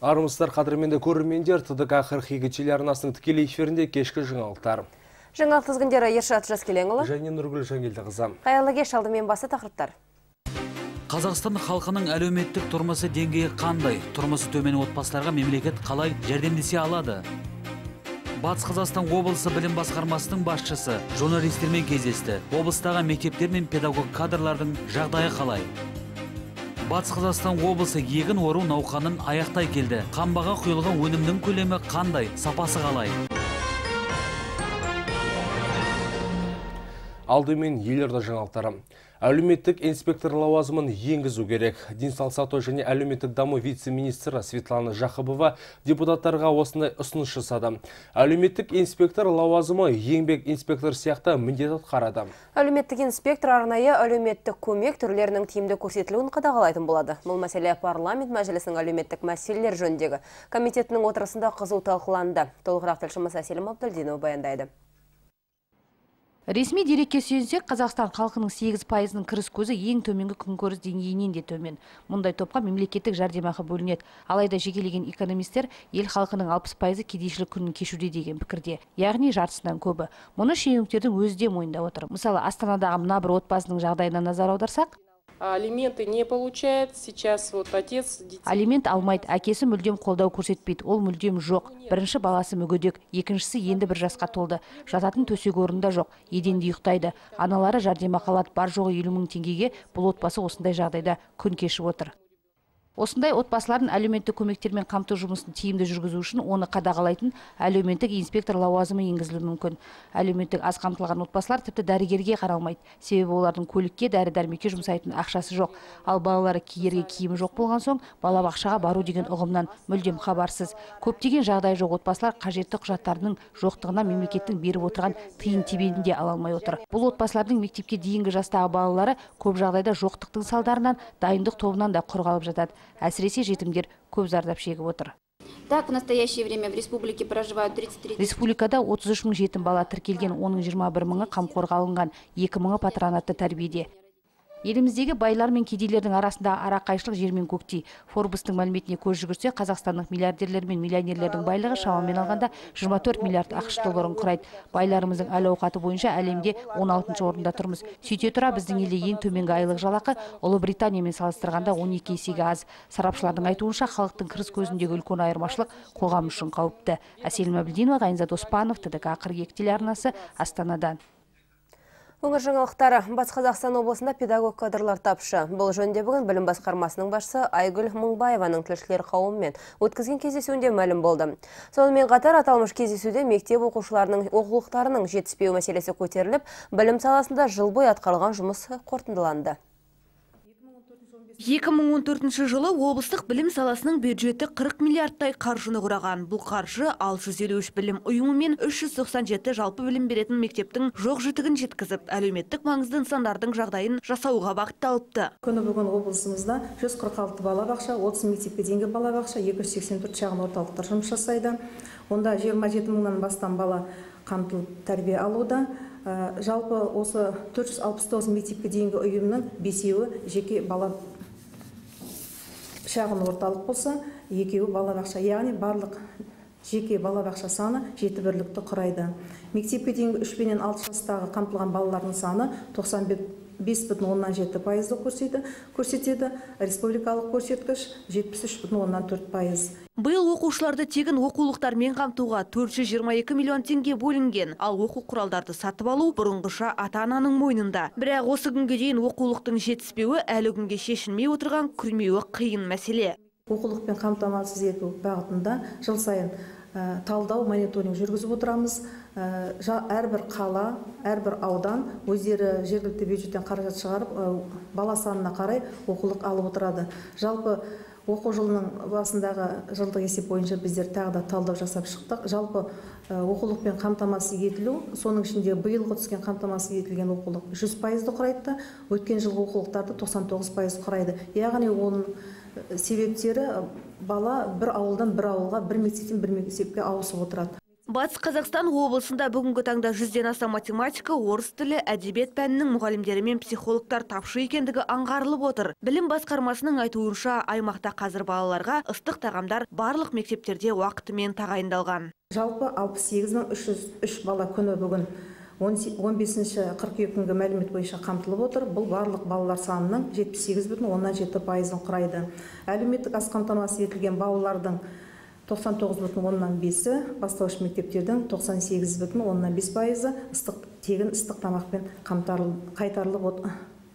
Армысыздар қадірменді көрермендер, ТДК 42 телеарнасының тікелей эфирінде кешкі жаңалықтар. Жаңалық тізгіндері Ершат Жаскеленұлы және Нұргүл Жангелдіқызы. Қайырлы кеш, алдымен басы тақырыптар. Қазақстан халқының әлеуметтік тұрмысы деңгейі қандай? Тұрмысы төмен отбасыларға мемлекет қалай жәрдемдесе алады? Батыс Қазақстан облысы білім басқармасының басшысы журналистермен кездесті. Облыстағы мектептер мен педагог кадрлардың жағдайы қалай? Батыс Қазақстан облысы егін ору науқанын аяқтай келді. Қамбаға құйылған өнімнің көлемі қандай, сапасы қалай? Алдымен елорда жаңалықтары. Әлеуметтік инспектор лауазымын енгізу керек. Денсаулық сақтау және әлеуметтік даму вице-министрі Светлана Жақыбова депутаттарға осындай ұсыныс жасады. Әлеуметтік инспектор лауазымы еңбек инспектор сияқты міндет атқарады. Әлеуметтік инспектор арнайы әлеуметтік көмек түрлерінің тиімді көрсетілуін қадағалайтын болады. Бұл мәселе парламент мәжілісінің әлеуметтік мәселелер жөніндегі комитетінің отырысында қызу талқыланды. Толығырақ тілшіміз Әселім Абдылдинова баяндайды. Ресми дерекке сүйенсек, Қазақстан халқының 8%-ның кіріс көзі ең төменгі күнкөріс деңгейінен де төмен. Мұндай топқа мемлекеттік жәрдемақы бөлінеді. Алайда жекелеген экономистер ел халқының 60%-ы кедейшілік күнін кешуде деген пікірде, яғни жартысынан көбі. Мұны шенеуніктердің өзі де мойындап отыр. Мысалы, Астанадағы мына бір отбасының жағдайына назар аударсақ, алименты не получает, сейчас вот отец... Алимент алмайды, әкесі мүлдем қолдау көрсетпейді, ол мүлдем жоқ. Бірінші баласы мүгедек, екіншісі енді 1 жасқа толды. Жататын төсек орында жоқ, еденде ұйықтайды. Аналары жәрдемақы алады, бар жоғы 50 000 теңгеге бұл отбасы осындай жағдайда күн кешіп отыр. Осындай отбасылардың әлеуметтік көмектермен қамту жұмысын тиімді жүргізу үшін оны қадағалайтын әлеуметтік инспектор лауазымы енгізілуі мүмкін. Әлеуметтік аз қамтылған отбасылар тіпті дәрігерге қаралмайды. Себебі олардың көлікке, дәрі-дәрмекке жұмсайтын ақшасы жоқ. Ал балалары киерге киімі жоқ болған соң, балабақшаға бару деген ұғымнан мүлдем хабарсыз. Көптеген жағдай жоқ отбасылар қажетті құжаттарының жоқтығына мемлекеттің беріп отырған тиын тебенінде ала алмай отыр. Бұл отбасылардың мектепке дейінгі жастағы балалары көп жағдайда жоқтықтың салдарынан дайындық тобынан да құр қалып жатады. Әсіресе жетімдер көп зардап шегіп отыр. Так, в настоящее время в республике проживают 33... Республикада 33 000 жетім бала тіркелген, оның 21 000-ы қамқорға алынған, 2 000-ы патронатты тәрбиеде. Еліміздегі байлар мен кедейлердің арасында арақайшылық жер мен көктей. Форбстың мәліметіне көз жүгірсе, қазақстандық миллиардерлер мен миллионерлердің байлығы шамамен алғанда 24 миллиард ақш долларын құрайды. Байларымыздың әл-ауқаты бойынша әлемде 16-шы орында тұрмыз. Сөйте тұра біздің елде ең төменгі айлық жалақы Ұлыбританиямен салыстырғанда 12 есеге аз. Сарапшылардың айтуынша, халықтың кіріс көзіндегі үлкен айырмашылық қоғам үшін қауіпті. Әселім Абдылдинова, Ғайнзат Оспанов, ТДК 42 телеарнасы, Астанадан. Өңір жаңалықтары. Батыс Қазақстан облысында педагог кадрлар тапшы. Бұл жөнінде бүгін білім басқармасының басшысы Айгүл Мыңбаеваның тілшілер қауымымен өткізген кездесуінде мәлім болды. Сонымен қатар аталмыш кездесуде мектеп оқушыларының оқулықтарының жетіспеуі мәселесі көтеріліп, білім саласында жыл бойы атқарылған жұмыс қорытындыланды. 2014 жылы облыстық білім саласының бюджеті 40 миллиардтай қаржыны құраған. Бұл қаржы 653 білім ұйымы мен 397 жалпы білім беретін мектептің жоқ жітігін жеткізіп, әлеуметтік маңызды нысандардың жағдайын жасауға бағытталыпты. Күні бүгін облысымызда 146 балабақша, 30 мектепке дейінгі балабақша, 284 шағын орталықтар жұмыс жасайды. Онда 27 000-нан бастан бала қамтылып тәрбие алуда. Жалпы осы 469 мектепке дейінгі ұйымның 5-еуі жеке бала шағын орталық болса, 2-еуі балабақша, яғни барлық жеке балабақша саны 7 бірлікті құрайды. Мектепке дейінгі 3 пен 6 жастағы қамтылған балалардың саны 95,7% көрсетеді, республикалық көрсеткіш 73,4%. Биыл оқушыларды тегін оқулықтармен қамтуға 422 миллион теңге бөлінген, ал оқу құралдарды сатып алу бұрынғыша ата-ананың мойнында. Бірақ осы күнге дейін оқулықтың жетіспеуі әлі күнге шешілмей отырған күрмеуі қиын мәселе. Оқулықпен қамтамасыз ету бағытында жыл сайын талдау, мониторинг жүргізіп отырамыз. Әрбір қала, әрбір аудан өздері жергілікті бюджеттен қаражат шығарып, бала санына қарай оқулық алып отырады. Жалпы оқу жылының басындағы жылдық есеп бойынша біздер тағы да талдау жасап шықтық. Жалпы оқулықпен қамтамасыз етілу, соның ішінде биылғы түскен қамтамасыз етілген оқулық 100%-ді құрайды, өткен жылғы оқулықтарды 99% құрайды. Яғни оның себептері бала бір ауылдан бір ауылға, бір мектептен бір мектепке ауысып отырады. Батыс Қазақстан облысында бүгінгі таңда 100-ден аса математика, орыс тілі, әдебиет пәнінің мұғалімдері мен психологтар тапшы екендігі аңғарылып отыр. Білім басқармасының айтуынша, аймақта қазір балаларға ыстық тағамдар барлық мектептерде уақытымен тағайындалған. Жалпы 68.303 бала күні бүгін 15 қыркүйек күнгі мәлімет бойынша қамтылып отыр. Бұл барлық балалар санының 78,7%-ын құрайды. Әлеуметтік аз қамтамасыз етілген балалардың 99,5%-і, бастауыш мектептердің 98,5%-і тегін ыстық тамақпен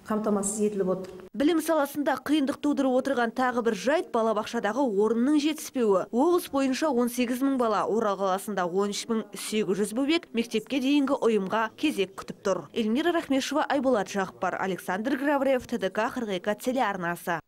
қамтамасыз етіліп отыр. Білім саласында қиындық тудырып отырған тағы бір жайт балабақшадағы орынның жетіспеуі. Облыс бойынша 18.000 бала, Орал қаласында 13.800 бөбек мектепке дейінгі ұйымға кезек күтіп тұр. Эльмира Рахмешева, Айболат Жақыпар, Александр Граврев, ТДК 42 телеарнасы.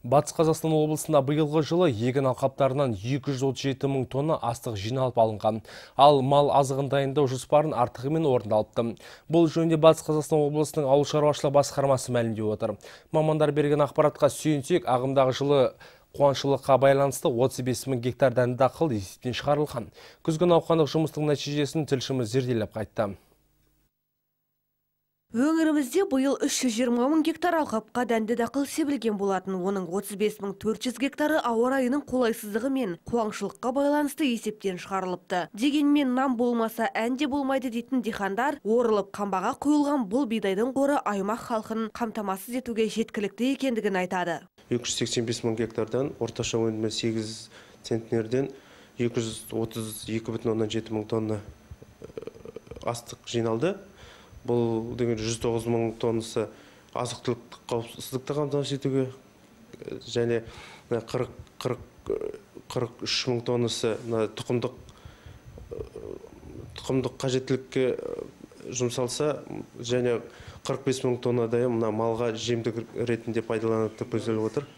Батыс Қазақстан облысында биылғы жылы егін алқаптарынан 237 мың тонна астық жиналып алынған. Ал мал азығын дайындау жоспарын артығымен орындалыпты. Бұл жөнінде Батыс Қазақстан облысының ауыл шаруашылығы басқармасы мәлімдеп отыр. Мамандар берген ақпаратқа сүйенсек, ағымдағы жылы қуаңшылыққа байланысты 35 мың гектар дәнді дақыл есептен шығарылған. Күзгі науқандық жұмыстың нәтижесін тілшіміз зерделеп қайтты. Өңірімізде бұйыл 320 мың гектар алқапқа дәнді дақыл себілген болатын. Оның 35.400 гектары ауа райының қолайсыздығы мен қуаңшылыққа байланысты есептен шығарылыпты. Дегенмен нан болмаса әнде болмайды дейтін дихандар орылып қамбаға құйылған бұл бидайдың қоры аймақ халқын қамтамасыз етуге жеткілікті екендігін айтады. 285 мың гектардан орташа өнімі 8 центнерден 232,7 мың тонна астық жиналды. Бұл деген 109 мың тоннасы азық-түлік қауіпсіздікті қамтамасыз етуге және 43 мың тоннасы тұқымдық қажеттілікке жұмсалса және 45 мың тоннадай малға жемдік ретінде пайдаланып көзделіп отыр.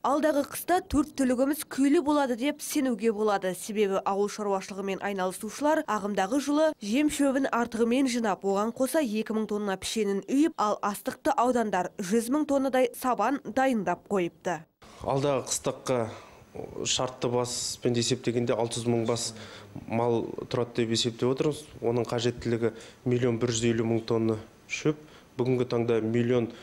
Алдағы қыста 4 түлігіміз күйлі болады деп сенуге болады. Себебі ауыл шаруашылығымен айналысушылар ағымдағы жылы жем шөбін артығымен жинап, оған қоса 2000 тонна пішенін үйіп, ал астықты аудандар 100 мың тоннадай сабан дайындап қойыпты. Алдағы қыстаққа шартты баспен есептегенде 600 мың бас мал тұрады деп есептеп отырмыз. Оның қажеттілігі 1,150 мың тонна шөп. Бүгінгі таңда 1,190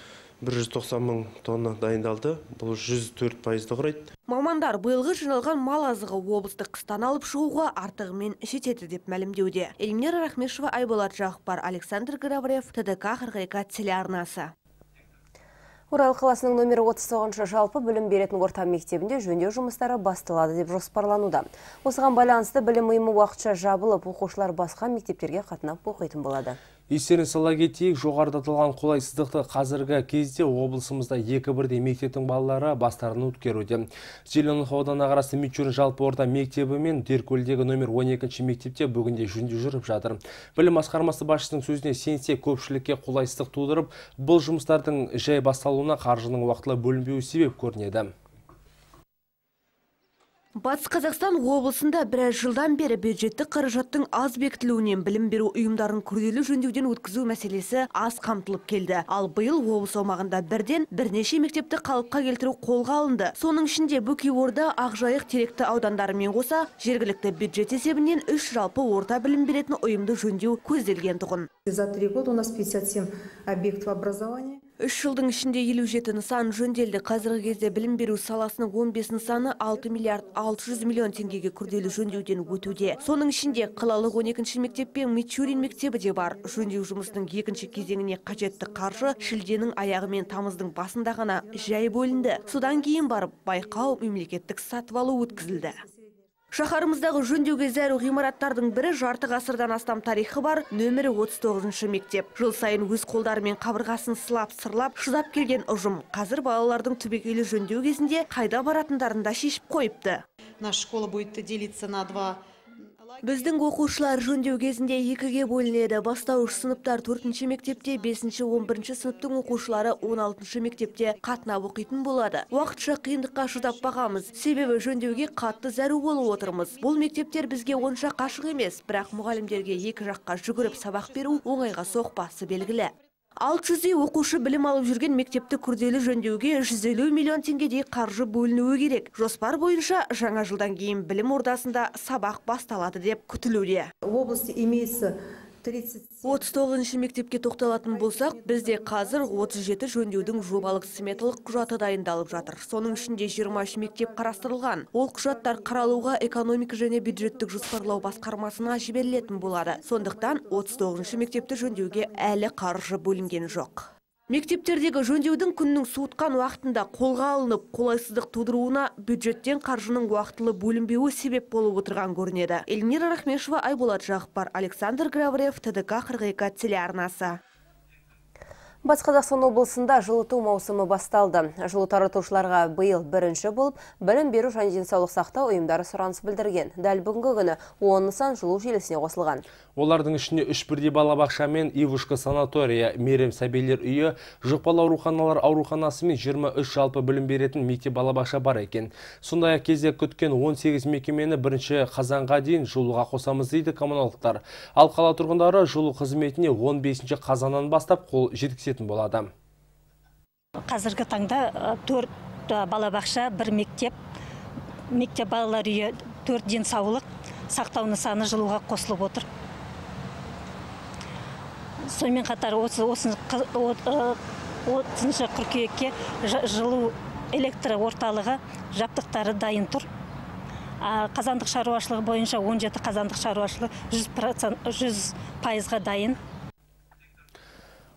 мың тонна дайындалды. Бұл 104%-ді құрайды. Мамандар биылғы жиналған мал азығы облыстық қыстан алып шығуға артығымен жетеді деп мәлімдеуде. Эльмира Рахмешева, Айболат Жақыпар, Александр Граврев, ТДК 42 телеарнасы. Орал қаласының номері 39-шы жалпы білім беретін орта мектебінде жөндеу жұмыстары басталады деп жоспарлануда. Осыған байланысты білім ұйымы уақытша жабылып, оқушылар басқа мектептерге қатынап оқитын болады. Естерін сала кетейік, жоғарыда аталған қолайсыздықты қазіргі кезде облысымызда 2-1 мектептің балалары бастарын өткеруде. Зеленов ауданы қарасты Мичурин жалпы орта мектебі мен Деркөлдегі номер 12-ші мектепте бүгінде жөндеу жүріп жатыр. Білім басқармасы басшысының сөзіне сенсек көпшілікке қолайсыздық тудырып, бұл жұмыстардың жай басталуына қаржының уақытылы бөлінбеуі себеп көрінеді. Батыс Қазақстан облысында біраз жылдан бері бюджеттік қаражаттың аз бекітілуінен білім беру ұйымдарын күрделі жөндеуден өткізу мәселесі аз қамтылып келді. Ал биыл облыс аумағында бірнеше мектепті қалыпқа келтіру қолға алынды. Соның ішінде Бөкейорда, Ақжайық, Теректі аудандарымен қоса жергілікті бюджет есебінен 3 жалпы орта білім беретін ұйымды жөндеу көзделген тұғын. За 3 года у нас 57 объектов образования. 3 жылдың ішінде 57 нысан жөнделді. Қазіргі кезде білім беру саласының 15 нысаны 6 миллиард 600 миллион теңгеге күрделі жөндеуден өтуде. Соның ішінде қалалық 12-ші мектеп пен Мичурин мектебі де бар. Жөндеу жұмысының екінші кезеңіне қажетті қаржы шілденің аяғы мен тамыздың басында ғана жай бөлінді. Содан кейін барып байқау мемлекеттік сатып алу өткізілді. Шаһарымыздағы жөндеуге зәру ғимараттардың бірі жарты ғасырдан астам тарихы бар нөмірі 39-шы мектеп. Жыл сайын өз қолдарымен қабырғасын сылап шыдап келген ұжым қазір балалардың түбегейлі жөндеу кезінде қайда баратындарын да шешіп қойыпты. Наша школа будет делиться на 2. Біздің оқушылар жөндеу кезінде 2-ге бөлінеді. Бастауыш сыныптар 4-ші мектепте, 5-ші 11-ші сыныптың оқушылары 16-ші мектепте қатынап оқитын болады. Уақытша қиындыққа шыдап бағамыз. Себебі жөндеуге қатты зәру болып отырмыз. Бұл мектептер бізге онша қашық емес, бірақ мұғалімдерге екі жаққа жүгіріп сабақ беру оңайға соқпасы белгілі. 600 оқушы білім алып жүрген мектепті күрделі жөндеуге 150 миллион теңгедей қаржы бөлінуі керек. Жоспар бойынша жаңа жылдан кейін білім ордасында сабақ басталады деп күтілуде. В области имеется 39 мектепке тоқталатын болсақ, бізде қазір 37 жөндеудің жобалық сметалық құжаты дайындалып жатыр. Соның ішінде 23 мектеп қарастырылған. Ол құжаттар қаралуға экономика және бюджеттік жоспарлау басқармасына жіберілетін болады. Сондықтан 39 мектепті жөндеуге әлі қаржы бөлінген жоқ. Мектептердегі жөндеудің күннің суытқан уақытында қолға алынып, қолайсыздық тудыруына бюджеттен қаржының уақытылы бөлінбеуі себеп болып отырған көрінеді. Эльмира Рахмешева, Айболат Жақпар, Александр Граврев, ТДК 42 телеарнасы. Батыс Қазақстан облысында жылыту маусымы басталды. Жылу таратушыларға биыл бірінші болып, білім беру және денсаулық сақтау ұйымдары сұраныс білдірген. Дәл бүгінгі күні 10 нысан жылу желісіне қосылған. Олардың ішінде 3 бірдей балабақша мен Ивушка санатория, Мерем сәбилер үйі, жұқпалы ауруханалар ауруханасы мен 23 жалпы білім беретін мектеп балабақша бар екен. Сондай-ақ кезек күткен 18 мекемені 1 қазанға дейін жылуға қосамыз дейді коммуналдықтар. Ал қала тұрғындары жылу қызметіне 15 қазаннан бастап қол жеткізетін болады. Қазіргі таңда 4 балабақша, 1 мектеп балалар үйі, 4 денсаулық сақтау нысаны жылуға қосылып отыр. Сонымен қатар 30 қыркүйекке жылу электр орталығы жабдықтары дайын тұр. Қазандық шаруашылығы бойынша 17 қазандық шаруашылығы 100%-ға дайын.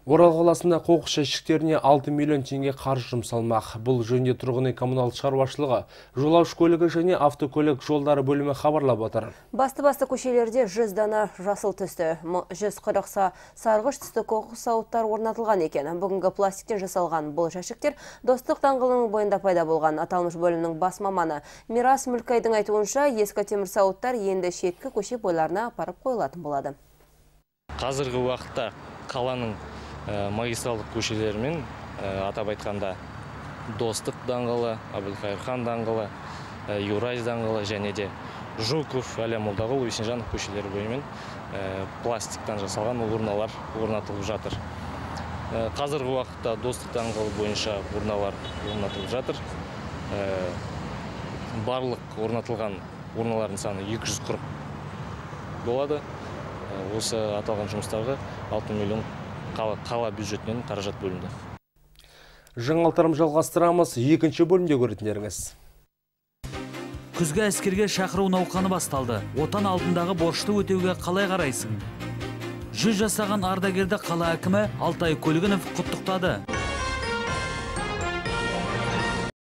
Орал қаласында қоқыс жәшіктеріне 6 миллион теңге қаржы жұмсалмақ. Бұл жөнінде тұрғын үй коммуналдық шаруашылығы, жолаушы көлігі және автокөлік жолдары бөлімі хабарлап отыр. Басты көшелерде 100 дана жасыл түсті, 140 сарғыш түсті қоқыс сауыттар орнатылған екен. Бүгінгі пластиктен жасалған бұл жәшіктер Достық даңғылының бойында пайда болған. Аталмыш бөлімнің бас маманы Мирас Мүлкайдың айтуынша, ескі темір сауыттар енді шеткі көше бойларына апарып қойылатын болады. Қазіргі уақытта қаланың магистралдық көшелерімен атап айтқанда Достық даңғылы, Абылқайырхан даңғылы, Юрай даңғылы және де Жуков, Әлия Молдағұл, Есенжанов көшелері бойымен пластиктан жасалған урналар орнатылып жатыр. Қазіргі уақытта Достық даңғылы бойынша урналар орнатылып жатыр. Барлық орнатылған урналардың саны 240 болады. Осы аталған жұмыстарға 6 миллион қала бюджетінен қаражат бөлінді. Жаңалықтарым жалғастырамыз, екінші бөлімде көретіндеріңіз. Күзгі әскерге шақыру науқаны басталды. Отан алдындағы борышты өтеуге қалай қарайсың? 100 жасаған ардагерді қала әкімі Алтай Көлгінов құттықтады.